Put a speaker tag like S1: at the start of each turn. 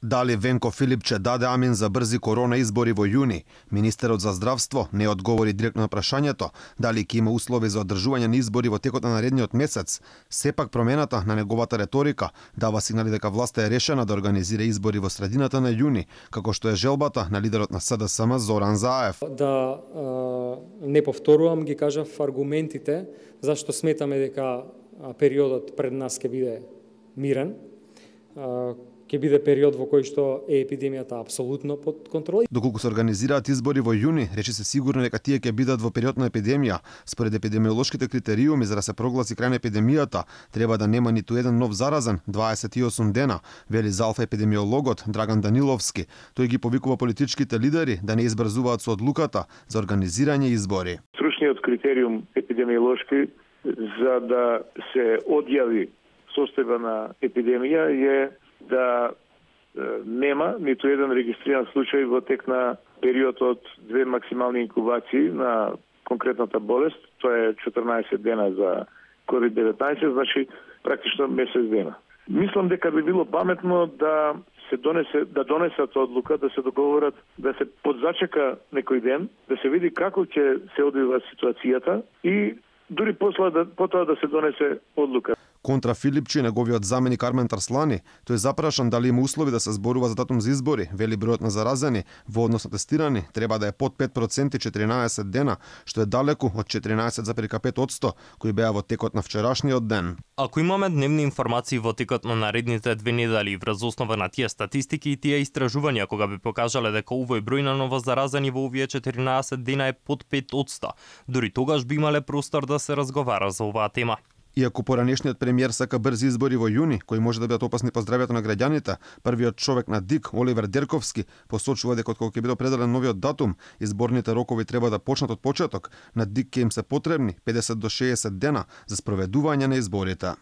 S1: Дали Венко Филипче даде амин за брзи корона избори во јуни? Министерот за здравство не одговори директно на прашањето дали ќе има услови за одржување на избори во текот на наредниот месец. Сепак промената на неговата реторика дава сигнали дека власта е решена да организира избори во средината на јуни, како што е желбата на лидерот на СДСМ Зоран Заев.
S2: Да не повторувам, ги кажав аргументите зашто сметаме дека периодот пред нас ќе биде мирен. Ќе биде период во кој што е епидемијата апсолутно под контрола.
S1: Доколку се организираат избори во јуни, речи се сигурно дека тие ќе бидат во период на епидемија. Според епидемиолошките критериуми за да се прогласи крај на епидемијата, треба да нема ниту еден нов заразен 28 дена, вели за Алфа епидемиологот Драган Даниловски. Тој ги повикува политичките лидери да не избрзуваат со одлуката за организирање избори.
S3: Стручниот критериум епидемиолошки за да се одјави состојба на епидемија е да нема ниту еден регистриран случај во тек на период од 2 максимални инкубации на конкретната болест. Тоа е 14 дена за COVID-19, значи практично месец дена. Мислам дека би било паметно да донесат одлука, да се договорат, да се подзачека некој ден, да се види како ќе се одвива ситуацијата и дури потоа да се донесе одлука.
S1: Контра Филипче, неговиот заменик Армен Тарслани, тој запрашан дали има услови да се зборува за датум за избори, вели бројот на заразени во однос на тестирани треба да е под 5% 14 дена, што е далеку од 14,5% кои беа во текот на вчерашниот ден.
S4: Ако имаме дневни информации во текот на наредните 2 недели врз основа на тие статистики и тие истражувања кога би покажале дека овој број на новозаразени во овие 14 дена е под 5%, дури тогаш би имале простор да се разговара за оваа тема.
S1: Иако поранешниот премиер сака брзи избори во јуни, кои може да бидат опасни по здравјето на граѓаните, првиот човек на ДИК, Оливер Дерковски, посочува дека откако ќе биде определен новиот датум, изборните рокови треба да почнат од почеток. На ДИК ќе им се потребни 50 до 60 дена за спроведување на изборите.